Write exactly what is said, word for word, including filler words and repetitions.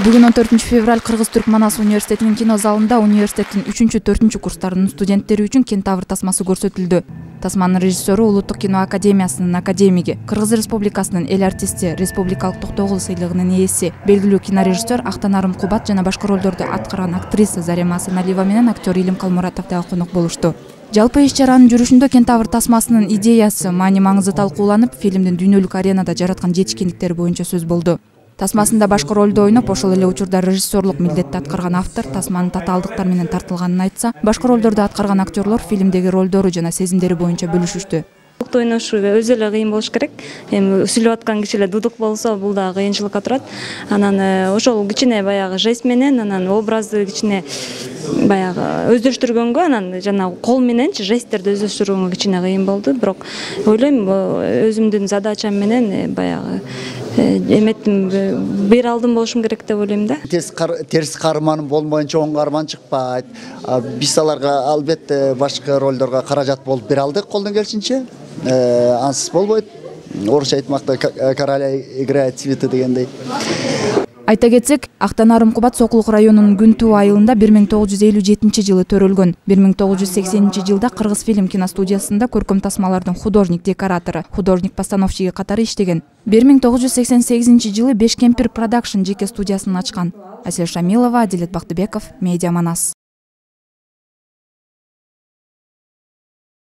Бүгүн он төртүнчү февраль Кыргыз-Түрк Манас университетинин кино залында университеттин үчүнчү төртүнчү курстарынын студенттери үчүн Кентавр тасмасы көрсөтүлдү. Тасманын режиссеру Улуттук кино академиясынын академиги, Кыргыз Республикасынын эл артисти, республикалык токтогул сыйлыгынын ээси, белгилүү кинорежиссер Актанарым Кубат жана башка ролдорду аткарган актриса Зарема Асаналиева менен актер Илим Калмуратов дагы конок болушту. Жалпы иш-чаранын жүрүшүндө Кентавр тасмасынын идеясы, маани маңызы талкууланып, фильмдин дүйнөлүк аренада жараткан жетишкендиктери боюнча сөз болду. Тасмасында башкы ролду ойноп, ошол эле учурда режиссерлук милдетти аткарган автор тасманын татаалдыктар менен тартылганын айтса, башкы ролдорду аткарган актерлор фильмдеги ролдору жана сезимдери боюнча бөлүшүштү. Дудук ойношу өзү эле кыйын болуш керек. Эми сүйлөп аткан киши эле дудук болсо, бул дагы кыйынчылыкка турат. Анан ошол кичине баягы жест менен, анан образды кичине баягы өздөштүргөнгө, анан жана кол мененчи жесттерди өздөштүргөнгө кичине кыйын болду. Бирок ойлойм, өзүмдүн задачам менен баягы эметтим бир алдым болушум керек деп ойлойм да. Терс каарман болмоюнча оң каарман чыкпайт. Биз аларга албетте башка ролдорго каражат болуп бере алдык колдон келишинче. Ансыз болбойт. Орусча айтмакта короля играет цветы дегендей. Айта кетсек, Актанарым Кубат Сокулук районунун Күнтүү айылында бир миң тогуз жүз элүү жетинчи жылы төрөлгөн. бир миң тогуз жүз сексенинчи жылда Кыргыз фильм киностудиясында көркөм тасмалардын художник-декоратору, художник-постановщиги катары иштеген. бир миң тогуз жүз сексен сегизинчи жылы Беш Кемпир Продакшн жеке студиясын ачкан. Асель Шамилова, Адилет Бактыбеков, Медиа Манас.